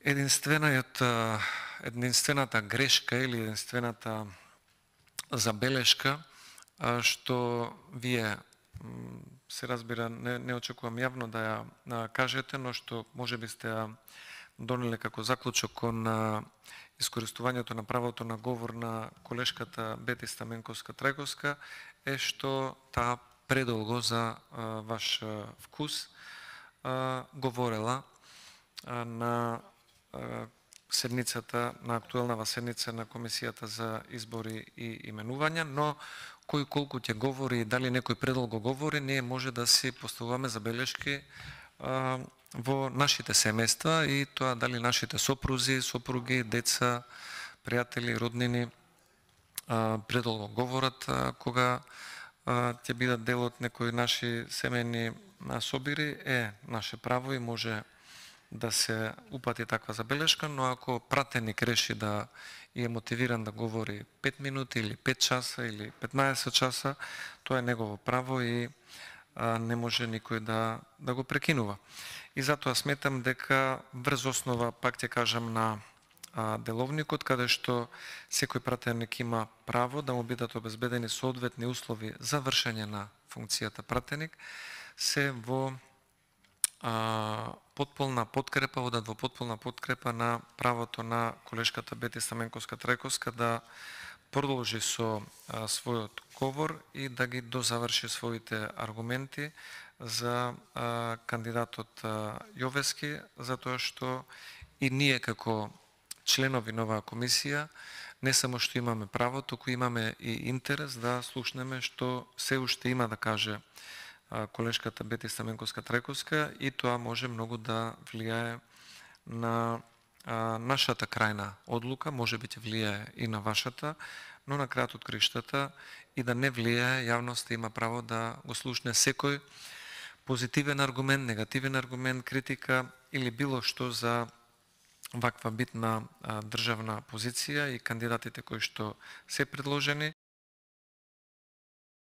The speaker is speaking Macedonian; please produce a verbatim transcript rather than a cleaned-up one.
единствениот, единствената грешка или единствената забелешка што вие се разбира, не, не очекувам јавно да ја кажете, но што може би сте ја донеле како заклучок кон искористувањето на правото на говор на колешката Бети Стаменковска-Трајковска е што таа предолго за а, ваш а, вкус а, говорела а, на а, седницата, на актуелнава седница на Комисијата за избори и именувања, но кој колку ќе говори и дали некој предолго говори, ние може да си поставуваме забелешки а, во нашите семејства и тоа дали нашите сопрузи, сопруги, деца, пријатели, роднини а, предолго говорат а, кога а, ќе бидат дел од некои наши семејни собири, е наше право и може да се упати таква забелешка, но ако пратеник реши да и е мотивиран да говори пет минути или пет часа или петнаесет часа, тоа е негово право и а, не може никој да, да го прекинува. И затоа сметам дека врз основа, пак ќе кажам, на а, деловникот, каде што секој пратеник има право да му бидат обезбедени соодветни услови за вршење на функцијата пратеник, се во а, потполна подкрепа, одат во потполна подкрепа на правото на колешката Бети Стаменковска-Трајковска да продолжи со а, својот говор и да ги дозаврши своите аргументи за а, кандидатот а, Јовески, затоа што и ние како членови на оваа комисија не само што имаме право, туку имаме и интерес да слушнеме што се уште има да каже колешката Бети Стаменковска-Трајковска и тоа може многу да влијае на а, нашата крајна одлука, може би ќе влијае и на вашата, но на крајот од криштата и да не влијае, јавноста има право да го слушне секој позитивен аргумент, негативен аргумент, критика или било што за ваква битна а, државна позиција и кандидатите кои што се предложени.